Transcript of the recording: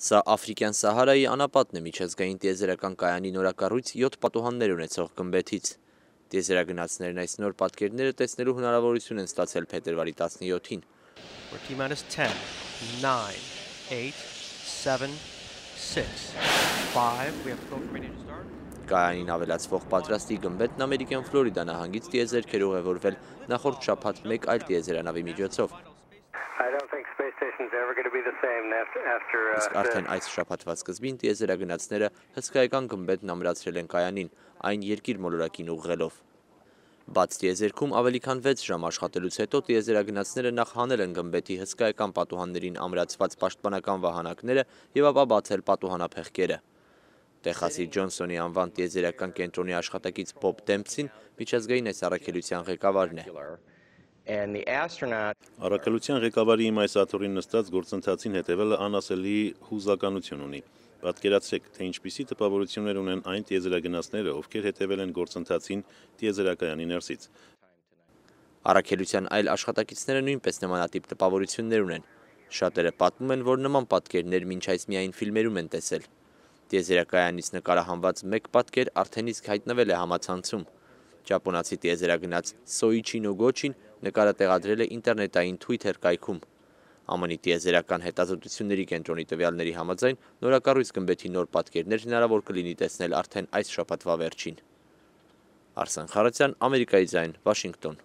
Սա Աֆրիկյան Սահարայի անապատն է միջազգային տիեզերական կայանի նորակառույց 7 պատուհաններ ունեցող գմբեթից։ Տիեզերագնացներն այս նոր պատկերները տեսնելու հնարավորություն են ստացել փետրվարի 17-ին։ Կայանին ավելացվող պատրաստի գմբեթն ամերիկյան Ֆլորիդա նահանգից տիեզերքեր ուղևորվել նախորդ շաբաթ մեկ այլ տիեզերանավի միջոցով։ Իսկ արդեն այս շաբաթվա սկզբին տիեզերագնացները հսկայական գմբեթն ամրացրել են կայանին, այն երկիր մոլորակին ուղղելով։ Բաց տիեզերքում ավելի քան 6 ժամ աշխատելուց հետո տիեզերագնացները նախ հանել են գմբեթի հսկայական պատուհաններին ամրացված պաշտպանական վահանակները և ապա բացել պատուհանափեղկերը։ Տեխասի Ջոնսոնի անվան տիեզերական կենտրոնի աշխատակից Բոբ Դեմփսին միջազգային այս առաքելության ղեկավարն է։ Առաքելության ղեկավարի իմ այս աթոռին նստած գործընթացին հետևելը անասելի հուզականություն ունի։ Պատկերացրեք, թե ինչպիսի տպավորություններ ունեն այն տիեզերագնացները, ովքեր հետևել են գործընթացին տիեզերակայանի ներսից։ Առաքելության այլ աշխատակիցները նույնպես նմանատիպ տպավորություններ ունեն։ Շատերը պատմում են, որ նման պատկերներ մինչ այս միայն ֆիլմերում են տեսել։ Տիեզերակայանից նկարահանված մեկ պատկեր արդեն իսկ հայտնվել է համացանցում։ Ճապոնացի տիեզերագնաց Սոիչի Նոգոչին նկարը տեղադրել է ինտերնետային Twitter կայքում։ ԱՄՆ-ի տիեզերական հետազոտությունների կենտրոնի տվյալների համաձայն նորակառույց գմբեթի նոր պատկերներ հնարավոր կլինի տեսնել արդեն այս շաբաթվա վերջին։ Արսեն Խարատյան, Ամերիկայի ձայն, Վաշինգտոն։